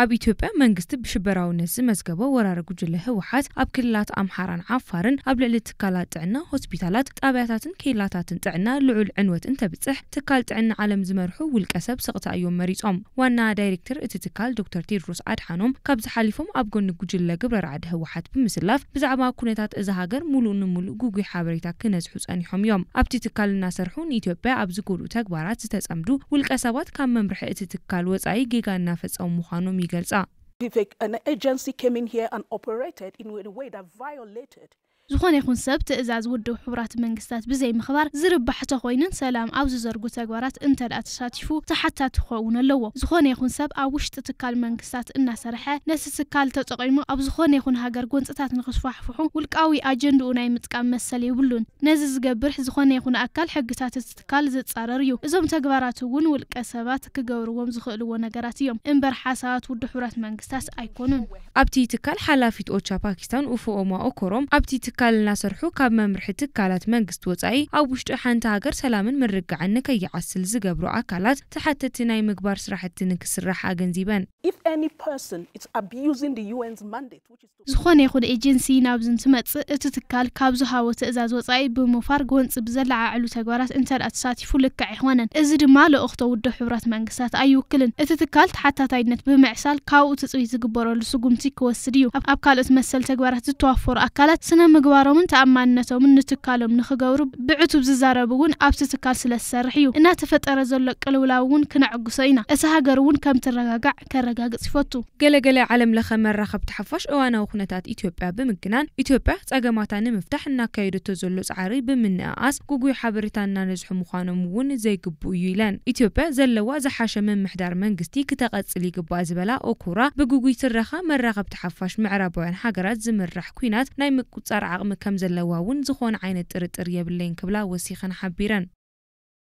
ኣብ ኢትዮጵያ መንግስቲ ብሽበራውነት ዝመዝገቦ ወራሪ ጉጅለ ህወሓት ኣብ ክልላት ኣምሓራን ዓፋርን ኣብ ልዕሊ ትካላት ጥዕና፣ ሆስፒታላት፣ ጣብያታትን ኬላታትን ጥዕና ልዑል ዕንወት እንተብፅሕ፣ ትካል ጥዕና ዓለም ዝመርሑ ውልቀ ሰብ ስቕታ እዮም መሪጾም። ዋና ዳይሬክተር እቲ ትካል ዶክተር ቴድሮስ ኣድሓኖም ካብዚ ሓሊፎም ኣብ ጎኒ ጉጅለ ግብረ ራዕዲ ህወሓት ብምስላፍ ብዛዕባ ኩነታት እዛ ሃገር ሙሉእ ንሙሉእ ጉጉይ ሓበሬታ ክነዝሑ ጸኒሖም እዮም። ኣብቲ ትካል እናሰርሑ ንኢትዮጵያ ኣብ ዝጎድኡ ተግባራት ዝተጸምዱ ውልቀ ሰባት ካብ መምርሒ እቲ ትካል ወጻኢ ጌጋ እናፈጸሙ ምዃኖም ይገልጻ። If a, an agency came in here and operated in a way that violated ዝኾነ ይኹን ሰብ ትእዛዝ ውድብ ሕቡራት መንግስታት ብዘይ ምኽባር ዝርባሕ ተኾይኑን ሰላም ኣብ ዝዘርጉ ተግባራት እንተ ደኣ ተሳቲፉ ተሓታቲ ክኸውን ኣለዎ። ዝኾነ ይኹን ሰብ ኣብ ውሽጢ ትካል መንግስታት እናሰርሐ ነቲ ትካል ተጠቒሙ ኣብ ዝኾነ ይኹን ሃገር ጎንፅታት ንክስፋሕፍሑ ውልቃዊ ኣጀንድኡ ናይ ምጥቃም መሰል የብሉን። ነዚ ዝገብር ዝኾነ ይኹን ኣካል ሕግታት እቲ ትካል ዝፃረር እዩ። እዞም ተግባራት እውን ውልቀ ሰባት ክገብርዎም ዝኽእልዎ ነገራት እዮም እምበር ሓሳባት ውድብ ሕቡራት መንግስታት ኣይኮኑን። ኣብቲ ትካል ሓላፊት ኦቻ ፓኪስታን ኡፉኦማ ኦኮሮም ኣብቲ ትካል እናሰርሑ ካብ መምርሒ ትካላት መንግስቲ ወፃኢ ኣብ ውሽጢ ሓንቲ ሃገር ሰላምን ምርግጋዕን ንከይዓስል ዝገብሩ ኣካላት ተሓተቲ ናይ ምግባር ስራሕቲ ንክስራሕ ኣገንዚበን። If any person is abusing the U N's mandate, which is to ዝኾነ ይኹን ኤጀንሲ ናብዚ እንትመፅእ እቲ ትካል ካብ ዝሃቦ ትእዛዝ ወፃኢ ብምፋር ጎንፂ ብዘለዓዕሉ ተግባራት እንተ ደኣ ተሳቲፉ ልክዕ ኣይኾነን። እዚ ድማ ልእኽቶ ውድብ ሕቡራት መንግስታት ኣይውክልን። እቲ ትካል ተሓታታይነት ብምዕሳል ካብኡ ትፅቢት ዝግበረሉ ስጉምቲ ክወስድ እዩ። ኣብ ኣብ ካልኦት መሰል ተግባራት ዝተዋፈሩ ኣካላት ስነ ምግባሮምን ተኣማንነቶምን ንትካሎም ንክገብሩ ብዕቱብ ዝዛረብ እውን ኣብቲ ትካል ስለ ዝሰርሕ እዩ። እናተፈጠረ ዘሎ ቅልውላው እውን ክነዕግሶ ኢና። እታ ሃገር እውን ከም ትረጋጋዕ ከረጋግፅ ይፈቱ። ገለገለ ዓለም ለኸ መራኸብቲ ሓፋሽ እዋናዊ ኩነታት ኢትዮጵያ ብምግናን ኢትዮጵያ ጸገማታ ንምፍታሕ እናካየደቶ ዘሎ ጻዕሪ ብምንእኣስ ጉጉይ ሓበሬታ እናነዝሑ ምዃኖም እውን ዘይግብኡ እዩ ኢለን። ኢትዮጵያ ዘለዋ ዝሓሸ ምምሕዳር መንግስቲ ክተቐጽል ይግባእ ዝበላ ኦኮራ ብጉጉይ ትረኻ መራኸብቲ ሓፋሽ ምዕራባውያን ሃገራት ዝምራሕ ኲናት ናይ ምቁጽጻር ዓቕሚ ከም ዘለዋ እውን ዝኾነ ዓይነት ጥርጥር የብለይን ክብላ ወሲኸን ሓቢረን።